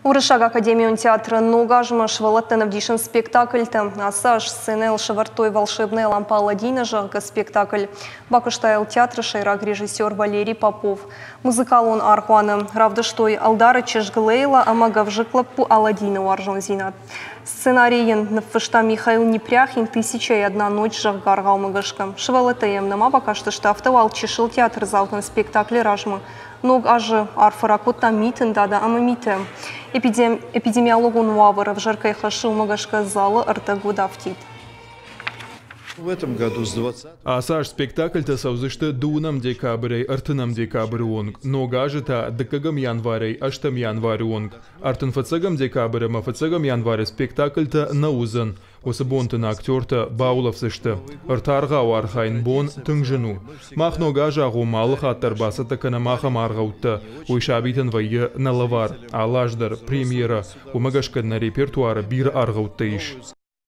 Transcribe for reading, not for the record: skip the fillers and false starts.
Уырыссаг академион театры ног азмӕ сывӕллӕттӕн ӕвдисынц спектакльтӕ. Ацы аз сценӕйыл сӕвӕрдтой «Волшебная лампа Аладдина», зӕгъгӕ, спектакль. Бакуыста йыл театры сӕйраг режиссер Валерий Попов. Музыкалон аргъуаны равдыстой ӕлдары чызг Лейла ӕмӕ гӕвзыкк лӕппу Аладдины уарзондзинад. Сценарий йын ныффыста Михаил Непряхин «Тысяча и одна ночь», зӕгъгӕ, аргъаумӕ гӕсгӕ. Сывӕллӕттӕ йӕм нӕма бакастысты, афтӕ уал чысыл театрдзаутӕн спектаклы размӕ Ног азы арфӕ ракодта Митын Дада ӕмӕ Митӕ. Эпидемиологон уавӕр ӕвзӕр кӕй хӕссы, уымӕ гӕсгӕ залы ӕрдӕг уыд афтид. Ацы аз спектакльтӕ цӕудзысты дыууынӕм декабрӕй ӕртынӕм декабры онг, ног азы та дыккӕгӕм январӕй ӕстӕм январы онг. Ӕртынфыццӕгӕм декабрь ӕмӕ фыццӕгӕм январы спектакльтӕ нӕ уыдзӕн. Уыцы бонты нӕ актертӕ баулӕфдзысты. Ӕртӕ архайын бон тынг зын у. Мах ног азы агъоммӕ алы хатт дӕр бацӕттӕ кӕнӕм ахӕм аргъӕуттӕ. Уый сабитӕн вӕййы нӕ лӕвар. Алы аз дӕр премьерӕ. Уымӕ гӕсгӕ нӕ репертуары бирӕ аргъӕуттӕ ис.